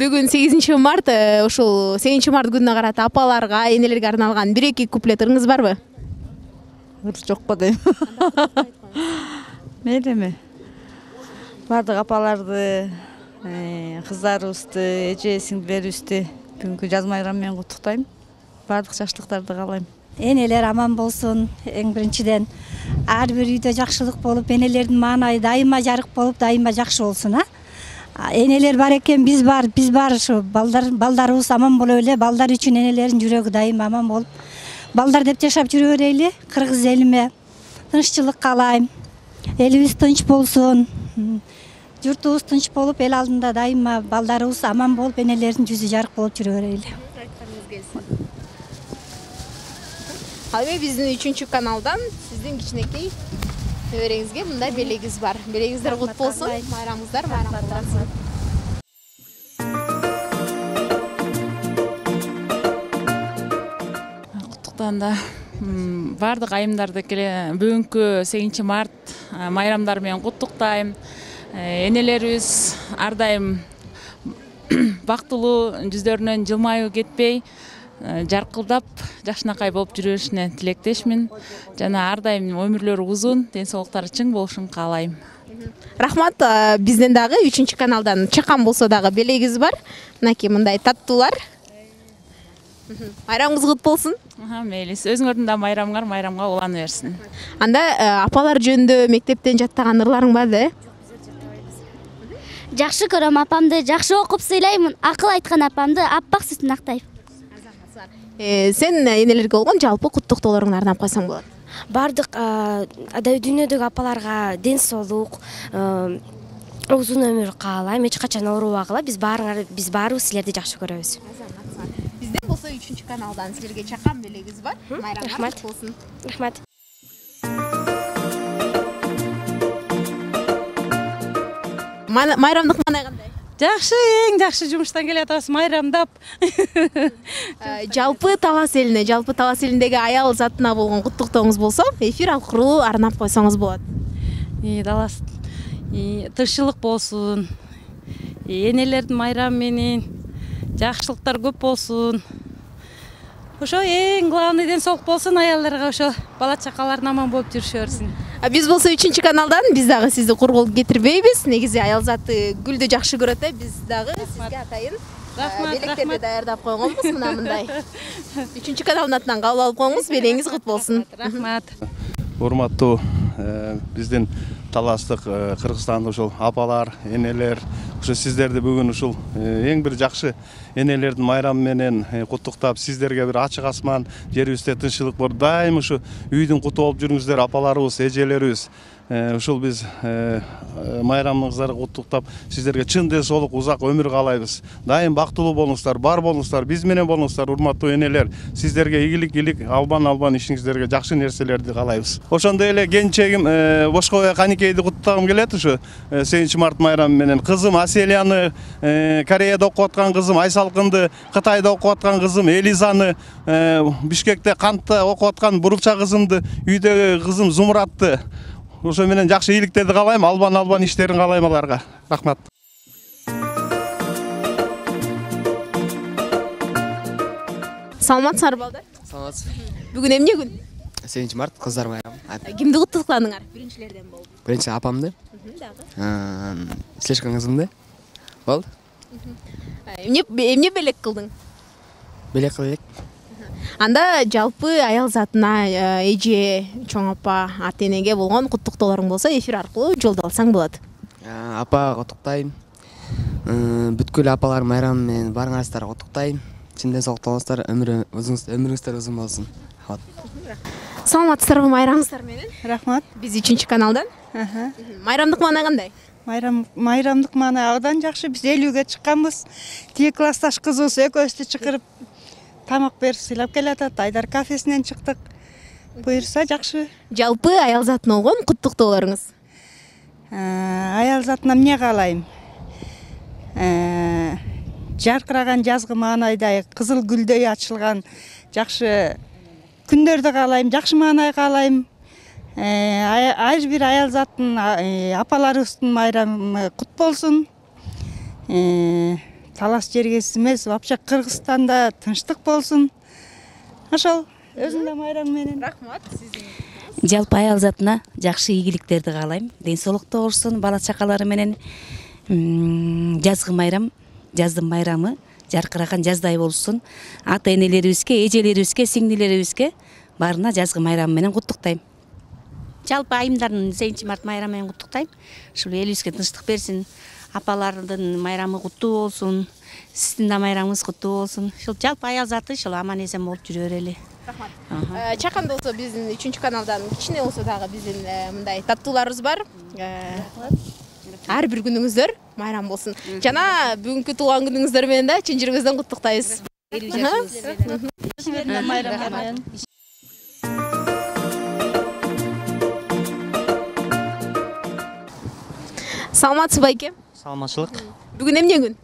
Бүгүн 8 март, ушул 8 март күнүнө карата апаларга, энелерге арналган 1-2 куплет ырыңыз барбы? Жокпу дейм. Мейли эми. Бардык апаларды, кыздарыбызды, эже сиңдилерибизди бүгүнкү жаз майрамы менен куттуктайм. Бардык жакшылыктарды каалайм. Энелер аман болсун. Эң биринчиден ар бир үйдө жакшылык болуп, энелердин маанайы дайыма жарык болуп, дайыма жакшы болсун, Энелер бар экен, биз бар ушу балдарыбыз аман боло эле, балдар үчүн энелердин жүрөгү дайыма аман болуп, балдар деп жашап жүрө берели. Кыргыз элиме тынччылык каалайм. Элибиз тынч болсун. Журтубуз тынч болуп, эл алдында дайыма балдарыбыз аман болуп, энелердин жүзү жарык болуп жүрө берели. Ал эми биздин 3 каналдан сиздин кичинекей небереңизге мындай белегиз бар. Белегиңиздер кут болсун, майрамыңыздар майрам болсун. Куттуктанда бардык айымдарды бүгүнкү 8 март майрамдары менен куттуктайм. Энелерибиз ар дайым бактылуу, жүздөрүнөн жылмаюу кетпей, жаркылдап, жакшынакай болуп жүрө беришине тилектешмин. Жана ар дайым өмүрлөрү узун, ден соолуктары чың болушун каалайм. Рахмат. Бизден дагы 3 каналдан чакан болсо дагы белегиз бар. Мынакей мындай таттуулар. Майрамыңыз кут болсун. Мейли, өзүңөрдүн да майрамыңар майрамга улана берсин. Анда апалар жөнүндө мектептен жаттаган ырларың барбы? Жакшы көрөм апамды, жакшы окуп сыйлаймын. Акыл айткан апамды аппак сүтүн актайм. Сен энелерге болгон жалпы куттуктоолоруңду арнап койсоң болот. Бардык дүйнөдөгү апаларга ден соолук, узун өмүр каалайм. Эч качан оорубагыла. Биз баарыбыз силерди жакшы көрөбүз. Бизден болсо 3 каналдан силерге чакан белегиз бар. Майрамыңар кут болсун. Рахмат. Майрамдык маанай кандай? Жакшы, эң жакшы жумуштан келатабыз, майрамдап. Жалпы Талас элиндеги аял затына болгон куттуктооңуз болсо, эфир аркылуу арнап койсоңуз болот. Талас тынччылык болсун. Энелердин майрамы менен жакшылыктар көп болсун. Ошо эң главный ден соолук болсун аялдарга, ошо бала чакаларын аман болуп жүрүшө берсин. Биз болсо 3 каналдан биз дагы сизди кургул кетирбейбиз. Негизи аял заты гүлдү жакшы көрөт, биз дагы сизге атайын белектерди даярдап койгонбуз. Мына мындай 3 каналдын атынан кабыл алып коюңуз, белеңиз кут болсун. Рахмат. Урматтуу биздин таластык Кыргызстандык ушул апалар, энелер, ошо сиздерди бүгүн ушул эң бир жакшы энелердин майрамы менен куттуктап, сиздерге бир ачык асман, жерибизде тынччылык болуп, дайым ушу үйдүн куту болуп жүрүңүздөр, апаларыбыз, эжелерибиз. Ушул биз майрамыңыздарды куттуктап, сиздерге чын ден соолук, узак өмүр каалайбыз. Дайым бактылуу болуңуздар, бар болуңуздар, биз менен болуңуздар, урматтуу энелер. Сиздерге ийгилик, албан ишиңиздерге жакшы нерселерди каалайбыз. Ошондой эле келинчегим Бошкобай Каникейди куттуктагым келет ушу 8 март майрамы менен. Кызым Аселияны, Кореяда окуп аткан кызым Айсалкынды, Кытайда окуп аткан кызым Элизаны, Бишкекте Кантта окуп аткан Бурулча кызымды, үйдөгү кызым Зумуратты. Ошо менен жакшы ийгиликтерди каалайм, албан иштерин каалайм аларга. Рахмат. Саламатсыңар балдар? Саламатсыз. Бүгүн эмне күн? 8 март кыздар майрамы. Кимди куттуктадыңар? Биринчилерден болду. Биринчи апамды. Дагы. Слишком кызымды. Болду. Эмне белек кылдың? Белек кылып. Анда жалпы аял затына, эже, чоң апа, ата энеге болгон куттуктоолоруң болсо, эфир аркылуу жолдо алсаң болот. Апа куттуктайм. Бүткүл апалар майрамы менен барыңарыздар куттуктайм. Чын ден соолук болуңуздар, өмүрүңүздөр узун болсун. Саламатсыздарбы майрамыңыздар менен? Рахмат. Биз 3 каналдан. Майрамдык маанай кандай? Майрамдык маанай абдан жакшы. Биз 50-ге чыкканбыз. Тиги классташ кызыбыз экөөбүздү чакырып тамак берип сыйлап келатат. Айдар кафесинен чыктык. Буюрса жакшы. Жалпы аял затына болгон куттуктоолоруңуз? Аял затына эмне каалайм? Жаркыраган жазгы маанайдай, кызыл гүлдөй ачылган жакшы күндөрдү каалайм, жакшы маанай каалайм. Ар бир аял заттын, апаларыбыздын майрамы кут болсун. талаш жергесиз эмес, вообще Кыргызстанда тынчтык болсун. Ошол өзүм да майрам менен. Рахмат сиздин. Жалпы аял затына жакшы ийгиликтерди каалайм. Ден соолукта болушун, бала чакалары менен жазгы майрам, жаздын майрамы жаркыраган жаздай болушун. Ата энелерибизге, эжелерибизге, сиңдилерибизге баарына жазгы майрам менен куттуктайм. Жалпы айымдардын 8 март майрамы менен куттуктайм. Ушул элибизге тынчтык берсин. Апалардын майрамы куттуу болсун. Сиздин да майрамыңыз куттуу болсун. Ушул жалпы аял заты ушул аман эсен болуп жүрө берели. Рахмат. Чаканда болсо биздин 3 каналдан кичине болсо дагы биздин мындай таттууларыбыз бар. Ар бир күнүңүздөр майрам болсун. Жана бүгүнкү туулган күнүңүздөр менен да чын жүрөгүбүздөн куттуктайбыз. Саламатсызбы байке? Саламатчылык. Бүгүн эмне күн?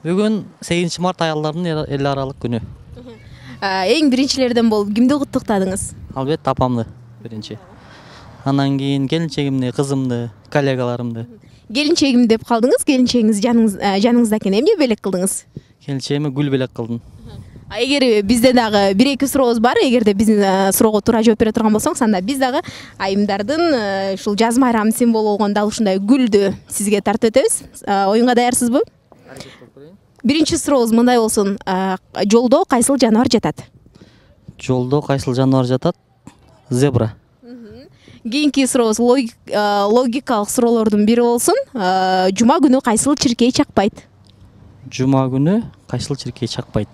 Бүгүн 8 март аялдардын эл аралык күнү. Эң биринчилерден болуп кимди куттуктадыңыз? Албетте апамды биринчи. Анан кийин келинчегимди, кызымды, коллегаларымды. Келинчегим деп калдыңыз, келинчегиңиз жаныңызда экен, эмне белек кылдыңыз? Келинчегиме гүл белек кылдым. Эгер бизде дагы 1-2 сурообуз бар, эгерде биздин суроого туура жооп бере турган болсоңуз, анда биз дагы айымдардын ушул жаз майрамынын символу болгон дал ушундай гүлдү сизге тартып өтөбүз. Оюнга даярсызбы? Биринчи сурообуз мындай болсун. Жолдо кайсыл жаныбар жатат? Жолдо кайсыл жаныбар жатат? Зебра. Кийинки сурообуз логикалык суроолордун бири болсун. Жума күнү кайсыл чиркей чакпайт? Жума күнү кайсыл чиркей чакпайт?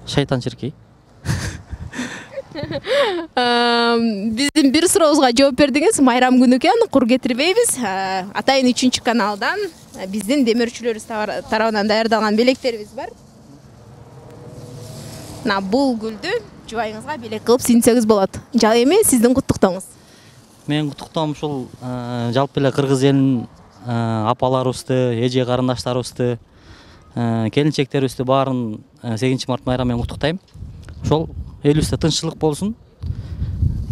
Шайтан чиркей. Биздин бир сурообузга жооп бердиңиз. Майрам күнү экен, кур кетирбейбиз. Атайын 3 каналдан биздин демөөрчүлөрүбүз тарабынан даярдалган белектерибиз бар. Бул гүлдү жубайыңызга белек кылып сүйүнсөңүз болот. Эми сиздин куттуктооңуз. Менин куттуктоом ушул жалпы эле кыргыз элинин апаларыбызды, эже карындаштарыбызды, келинчектерибизди баарын 8 март майрамы менен куттуктайм. Ошол элибизде тынччылык болсун,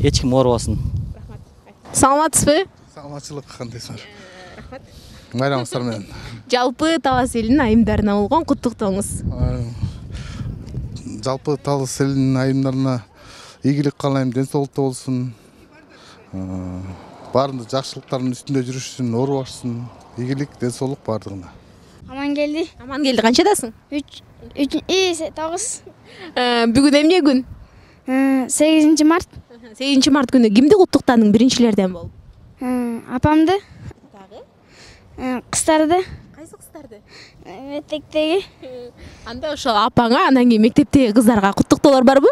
эч ким оорубасын. Рахмат. Саламатсызбы? Саламатчылык, кандайсыңар? Рахмат. Майрамыңыздар менен. Жалпы Талас элинин айымдарына болгон куттуктооңуз. Жалпы Талас элинин айымдарына ийгилик каалайм, ден соолукта болсун. Баарында жакшылыктардын үстүндө жүрүшсүн, оорубашсын. Ийгилик, ден соолук баардыгына. Аман келди. Аман келди. Канчадасың? 9. Бүгүн эмне күн? 8 март. 8 март күнү кимди куттуктадың биринчилерден болуп? Апамды. Дагы? Кыздарды. Кайсы кыздарды? Мектептеги. Анда ошо апаңа, анан кийин мектептеги кыздарга куттуктоолор барбы?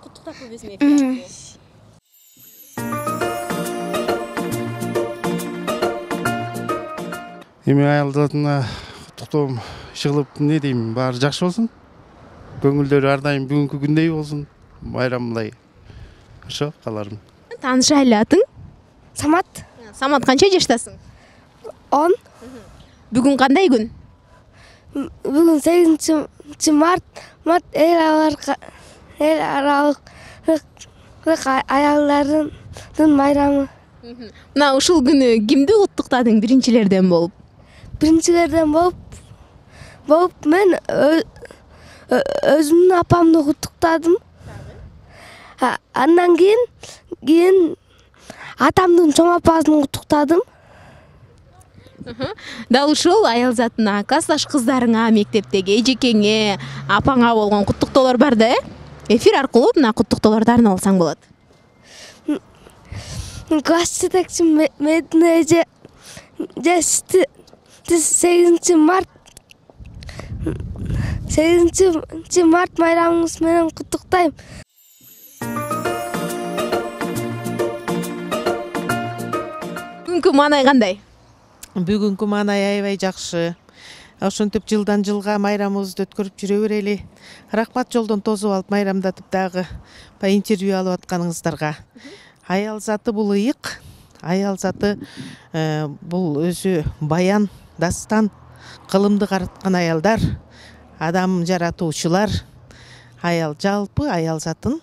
Куттуктап койбойсуңбу? Эми аялдарына куттуктоом чыгылып эмне дейм, баары жакшы болсун. Көңүлдөрү ар дайым бүгүнкү күндөй болсун. Майрамдай. Ошо кааларым. Тааныша эле атың? Самат. Самат, канча жаштасың? 10. Бүгүн кандай күн? Бүгүн 8 март. Эл аралык аялдардын майрамы. Мына ушул күнү кимди куттуктадың биринчилерден болуп? Биринчилерден болуп мен өзүмдүн апамды куттуктадым. Андан кийин атамдын чоң апасын куттуктадым. Дал ушул аял затына, классташ кыздарыңа, мектептеги эжекеңе, апаңа болгон куттуктоолор бар да, эфир аркылуу мына куттуктоолорду арнап алсаң болот. Класс жетекчим Медина эже 8 март майрамыңыз менен куттуктайм. Бүгүнкү маанай кандай? Бүгүнкү маанай аябай жакшы. Ошентип жылдан жылга майрамыбызды өткөрүп жүрө берели. Рахмат жолдон тосуп алып майрамдатып дагы интервью алып атканыңыздарга. Аял заты бул ыйык. Аял заты бул өзү баян, дастан, кылымды караткан аялдар, адам жаратуучулар. Жалпы аял затын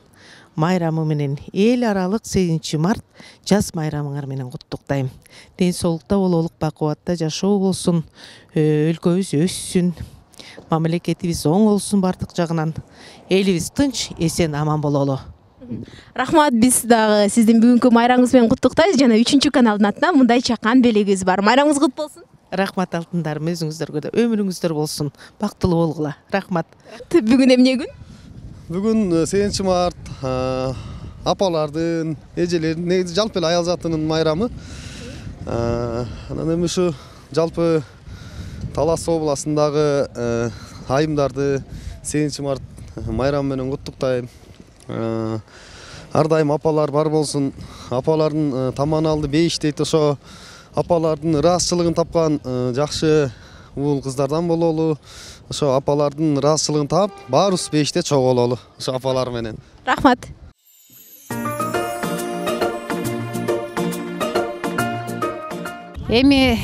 майрамы менен эл аралык 8 март жаз майрамыңар менен куттуктайм. Ден соолукта, бололук, бакубатта жашоо болсун, өлкөбүз өссүн, мамлекетибиз оң болсун бардык жагынан. Элибиз тынч, эсен, аман бололу. Рахмат, биз дагы сиздин бүгүнкү майрамыңыз менен куттуктайбыз жана 3 каналдын атынан мындай чакан белегибиз бар. Майрамыңыз кут болсун. Рахмат алтындарым, өзүңүздөргө да өмүрүңүздөр болсун. Бактылуу болгула. Рахмат. Бүгүн эмне күн? Бүгүн 8 март апалардын, эжелердин, негизи жалпы эле аял затынын майрамы. Анан эми ушу жалпы Талас областындагы айымдарды 8 март майрамы менен куттуктайм. Ар дайым апалар бар болсун. Апалардын таманалды бейиш дейт, ошо апалардын ыраазычылыгын тапкан жакшы уул кыздардан бололу. Ошо апалардын ыраазычылыгын таап, баарыбыз бейиште чогулолу ошо апалар менен. Рахмат. Эми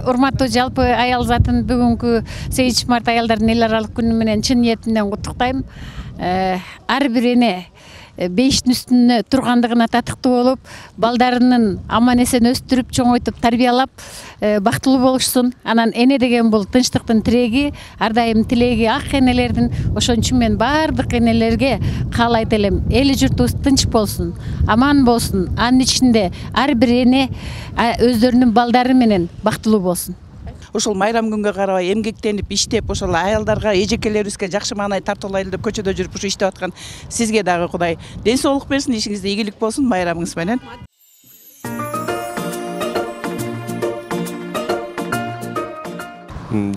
урматтуу жалпы аял затын бүгүнкү 8 март аялдардын эл аралык күнү менен чын ниетимден куттуктайм. Ар бир эне бейиштин үстүнө тургандыгына татыктуу болуп, балдарынын аман эсен өстүрүп, чоңойтуп, тарбиялап, бактылуу болушсун. Анан эне деген бул тынчтыктын тиреги, ар дайым тилеги ак энелердин. Ошон үчүн мен бардык энелерге каалайт элем, эли журтубуз тынч болсун, аман болсун. Анын ичинде ар бир эне өздөрүнүн балдары менен бактылуу болсун. Ошол майрам күнгө карабай эмгектенип иштеп, ошол аялдарга, эжекелерибизге жакшы маанай тартуулайлы деп көчөдө жүрүп ушу иштеп аткан сизге дагы Кудай ден соолук берсин, ишиңизде ийгилик болсун майрамыңыз менен.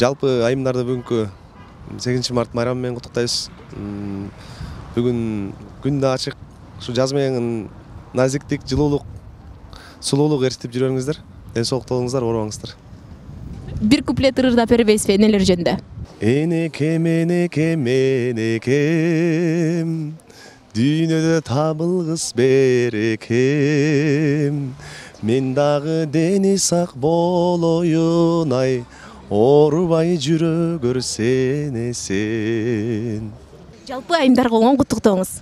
Жалпы айымдарды бүгүнкү 8 март майрамы менен куттуктайбыз. Бүгүн күн да ачык, ушу жаз менен назиктик, жылуулук, сулуулук ээрчитип жүрөңүздөр. Ден соолукта болуңуздар, оорубаңыздар. Bir kuplet ырырдап бербейсизби энелер жөнүндө? Энекем, энекем, энекем, дүйнөдө табылгыс берекем. Мен дагы дени сак болоюн ай, оорубай жүрө көрсен эсен. Жалпы айымдарга оң куттуктооңуз.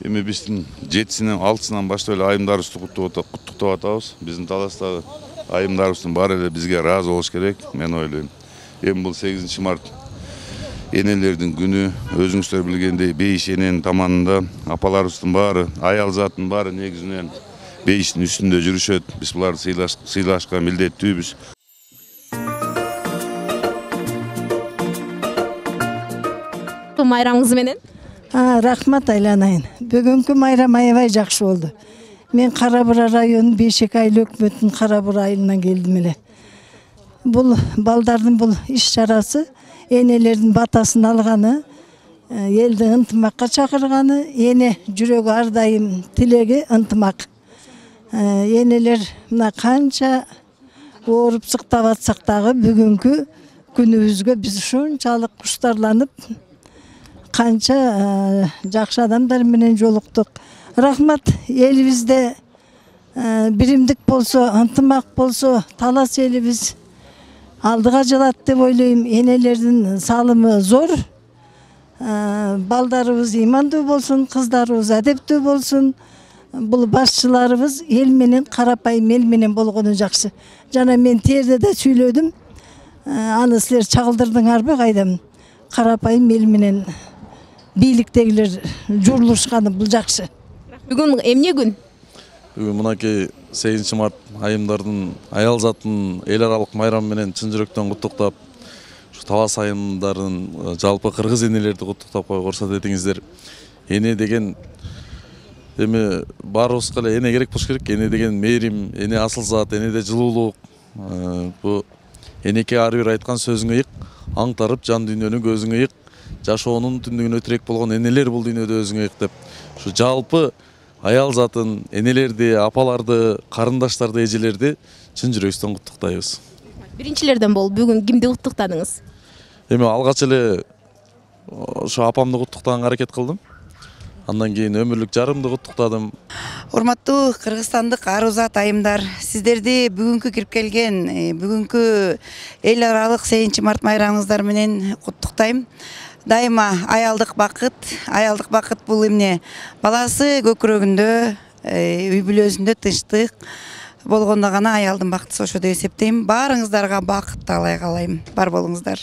Эми биздин 7-синен 6-сынан баштап эле айымдарыбызды куттуктап атабыз. Биздин Таластагы айымдарыбыздын баары эле бизге ыраазы болуш керек, мен ойлойм. Эми бул 8 март энелердин күнү, өзүңүздөр билгендей бейиш эненин таманында апаларыбыздын баары, аял заттын баары негизинен бейиштин үстүндө жүрүшөт. Биз буларды сыйлашка милдеттүүбүз. Майрамыңыз менен? Рахмат айланайын. Бүгүнкү майрам аябай жакшы болду. Мен Кара-Бура районунун Бейшек айыл өкмөтүнүн Кара-Бура айылынан келдим эле. Бул балдардын бул иш чарасы энелердин батасын алганы, элди ынтымакка чакырганы, эне жүрөгү ар дайым тилеги ынтымак. Энелер мына канча ооруп сыктап атсак дагы бүгүнкү күнүбүзгө биз ушунчалык куштарланып, канча жакшы адамдар менен жолуктук. Рахмат, элибизде биримдик болсо, ынтымак болсо, Талас элибиз алдыга жылат деп ойлойм. Энелердин салымы зор. Балдарыбыз имандуу болсун, кыздарыбыз адептүү болсун. Бул башчыларыбыз эл менен, карапайым эл менен болгону жакшы. Жана мен терде да сүйлөдүм. Аны силер чагылдырдыңарбы кайдам? Карапайым эл менен бийликтегилер журулушканы бул жакшы. Бүгүн эмне күн? Бүгүн мынакей 8 март айымдардын, аял заттын эл аралык майрамы менен чын жүрөктөн куттуктап, ушу Талас айымдарын, жалпы кыргыз энелерди куттуктап койгу уруксат этиңиздер. Эне деген эми баарыбызга эле эне керек болуш керек. Эне деген мээрим, эне асыл зат, энеде жылуулук. Бу энеке ар бир айткан сөзүң ыйык, аңтарып жан дүйнөнүн көзүң ыйык, жашоонун түндүгүнө тирек болгон энелер бул дүйнөдө өзүң ыйык деп. Ушу жалпы аял затын, энелерди, апаларды, карындаштарды, эжелерди чын жүрөктөн куттуктайбыз. Биринчилерден болуп бүгүн кимди куттуктадыңыз? Эми алгач эле ошо апамды куттуктаганга аракет кылдым. Андан кийин өмүрлүк жарымды куттуктадым. Урматтуу кыргызстандык арузат айымдар, сиздерди бүгүнкү кирип келген, бүгүнкү эл аралык 8 март майрамыңыздар менен куттуктайм. Дайыма аялдык бакыт бул эмне? Баласы көкүрөгүндө, үй бүлөсүндө тынчтык болгондо гана аялдын бактысы ошо деп эсептейм. Баарыңыздарга бакыт таалай каалайм. Бар болуңуздар.